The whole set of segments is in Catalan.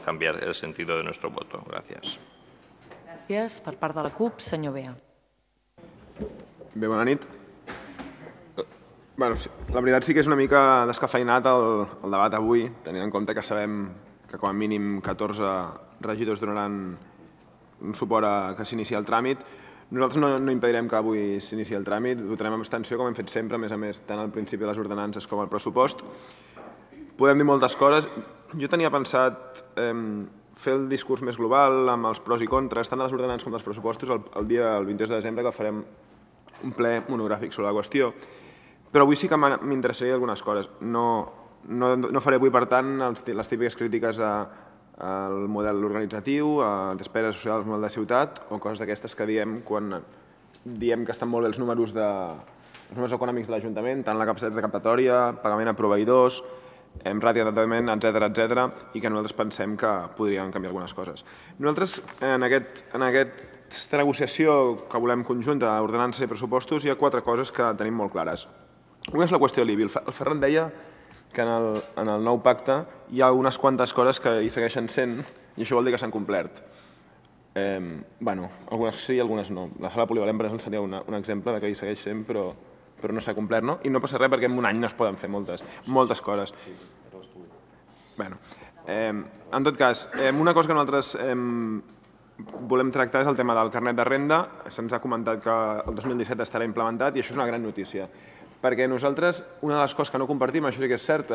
cambiar el sentido de nuestro voto. Gracias. Gràcies. Per part de la CUP, senyor Bea. Bé, bona nit. La veritat sí que és una mica descafeinat el debat avui, tenint en compte que sabem que com a mínim 14 regidors donaran un suport a que s'inici el tràmit. Nosaltres no impedirem que avui s'inici el tràmit, votarem amb abstenció, com hem fet sempre, a més, tant al principi de les ordenances com al pressupost. Podem dir moltes coses. Jo tenia pensat fer el discurs més global, amb els pros i contres, tant de les ordenances com dels pressupostos, el dia 22 de desembre, que farem un ple monogràfic sobre la qüestió. Però avui sí que m'interessaria algunes coses. No faré avui, per tant, les típiques crítiques al model organitzatiu, a despeses socials, al model de ciutat, o coses d'aquestes que diem quan diem que estan molt bé els números econòmics de l'Ajuntament, tant la capacitat recaptatòria, pagament a proveïdors, ràtio d'endeutament, etcètera, i que nosaltres pensem que podrien canviar algunes coses. Nosaltres, en aquesta negociació que volem conjunta d'ordenances i pressupostos, hi ha 4 coses que tenim molt clares. Una és la qüestió l'IBI. El Ferran deia que en el nou pacte hi ha unes quantes coses que hi segueixen sent, i això vol dir que s'han complert. Algunes sí i algunes no. La sala polivalent, per exemple, seria un exemple que hi segueix sent, però no s'ha complert, no? I no passa res perquè en un any no es poden fer moltes coses. En tot cas, una cosa que nosaltres volem tractar és el tema del carnet de renda. Se'ns ha comentat que el 2017 estarà implementat i això és una gran notícia. Perquè nosaltres, una de les coses que no compartim, això sí que és cert,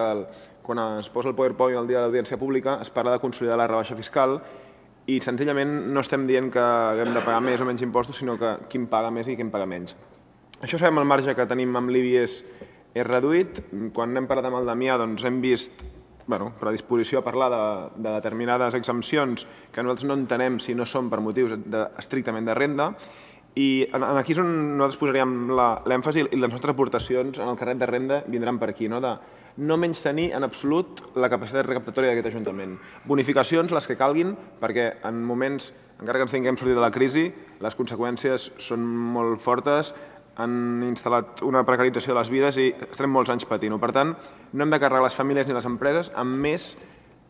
quan es posa el PowerPoint el dia de l'audiència pública, es parla de consolidar la rebaixa fiscal i senzillament no estem dient que haguem de pagar més o menys impostos, sinó que qui paga més i qui paga menys. Això sabem, el marge que tenim amb l'IBI és reduït. Quan hem parlat amb el Damià hem vist predisposició a parlar de determinades exempcions que nosaltres no entenem si no són per motius estrictament de renda. I aquí és on nosaltres posaríem l'èmfasi i les nostres aportacions en el carnet de renda vindran per aquí, de no menystenir en absolut la capacitat recaptatòria d'aquest Ajuntament. Bonificacions, les que calguin, perquè en moments, encara que ens tinguem sortit de la crisi, les conseqüències són molt fortes, han instal·lat una precarització de les vides i estarem molts anys patint-ho. Per tant, no hem de carregar les famílies ni les empreses amb més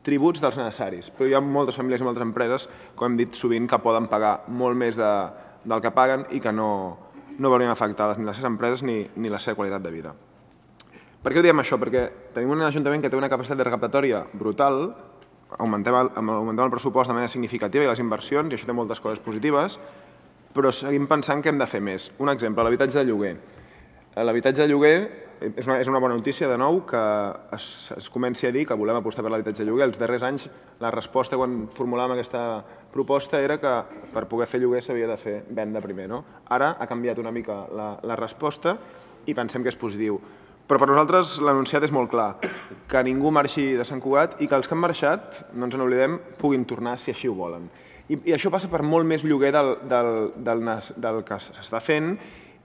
tributs dels necessaris. Però hi ha moltes famílies i moltes empreses, com hem dit sovint, que poden pagar molt més del que paguen i que no veurien afectades ni les seves empreses ni la seva qualitat de vida. Per què ho diem això? Perquè tenim un Ajuntament que té una capacitat de recaptatòria brutal, augmentem el pressupost de manera significativa i les inversions, i això té moltes coses positives, però seguim pensant que hem de fer més. Un exemple, l'habitatge de lloguer. L'habitatge de lloguer és una bona notícia, de nou, que es comenci a dir que volem apostar per l'habitatge de lloguer. Els darrers anys la resposta quan formulàvem aquesta proposta era que per poder fer lloguer s'havia de fer venda primer. Ara ha canviat una mica la resposta i pensem que és positiu. Però per nosaltres l'enunciat és molt clar, que ningú marxi de Sant Cugat i que els que han marxat, no ens n'oblidem, puguin tornar si així ho volen. I això passa per molt més lloguer del que s'està fent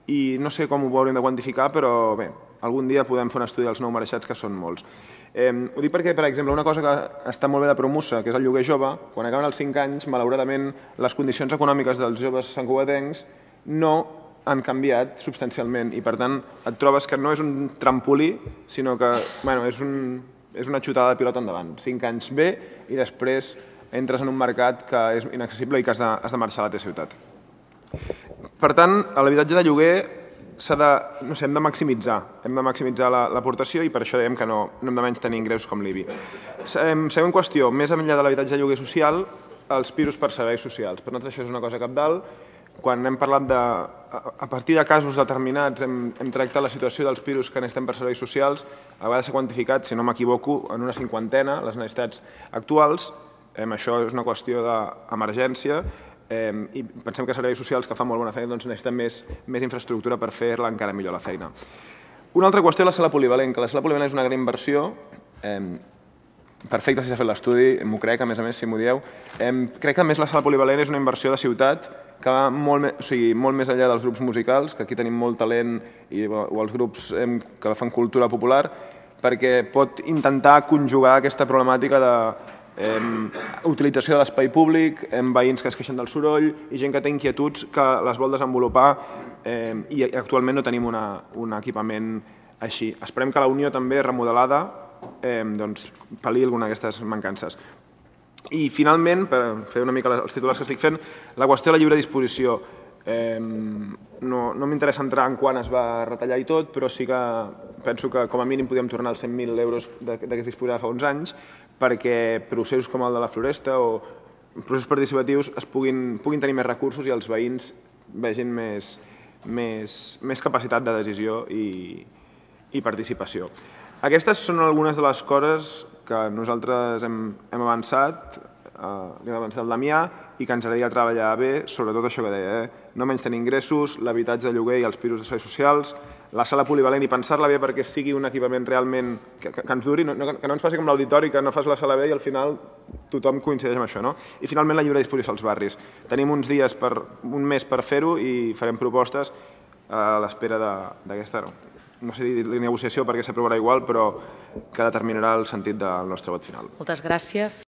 i no sé com ho hauríem de quantificar, però bé, algun dia podem fer un estudi dels nou marxats, que són molts. Ho dic perquè, per exemple, una cosa que està molt bé de Promusa, que és el lloguer jove, quan acaben els 5 anys, malauradament, les condicions econòmiques dels joves santcugatencs no han canviat substancialment i, per tant, et trobes que no és un trampolí, sinó que és una xutada de pilota endavant. 5 anys bé i després entres en un mercat que és inaccessible i que has de marxar a la teva ciutat. Per tant, l'habitatge de lloguer hem de maximitzar l'aportació i per això dèiem que no hem de menys tenir ingressos com l'IBI. Següent qüestió, més enllà de l'habitatge de lloguer social, els pisos per serveis socials. Per nosaltres això és una cosa cabdal. Quan hem parlat a partir de casos determinats, hem tractat la situació dels pisos que necessitem per serveis socials, a vegades s'ha quantificat, si no m'equivoco, en una 50ena les necessitats actuals. Això és una qüestió d'emergència i pensem que serveis socials que fan molt bona feina necessiten més infraestructura per fer-la encara millor la feina. Una altra qüestió és la sala polivalent, que la sala polivalent és una gran inversió, perfecte si s'ha fet l'estudi, m'ho crec, a més, si m'ho dieu. Crec que a més la sala polivalent és una inversió de ciutat que va molt més enllà dels grups musicals, que aquí tenim molt talent, o els grups que fan cultura popular, perquè pot intentar conjugar aquesta problemàtica de utilització de l'espai públic, veïns que es queixen del soroll i gent que té inquietuds que les vol desenvolupar i actualment no tenim un equipament així. Esperem que la Unió també remodelada pal·li alguna d'aquestes mancances. I finalment, per fer una mica els titulars que estic fent, la qüestió de la lliure disposició. No m'interessa entrar en quan es va retallar i tot, però sí que penso que com a mínim podíem tornar als 100.000 euros de què es disposava fa uns anys, perquè processos com el de la Floresta o processos participatius puguin tenir més recursos i els veïns vegin més capacitat de decisió i participació. Aquestes són algunes de les coses que nosaltres hem avançat, hem avançat el Damià, i que ens agradaria treballar bé, sobretot això que deia, no menys tenir ingressos, l'habitatge de lloguer i els pisos de serveis socials, la sala polivalent i pensar-la bé perquè sigui un equipament realment que ens duri, que no ens passi com l'auditori, que no fas la sala bé i al final tothom coincideix amb això. I finalment la lliure disposició als barris. Tenim uns dies, un mes per fer-ho i farem propostes a l'espera d'aquesta, no sé dir negociació perquè s'aprovarà igual, però que determinarà el sentit del nostre vot final. Moltes gràcies.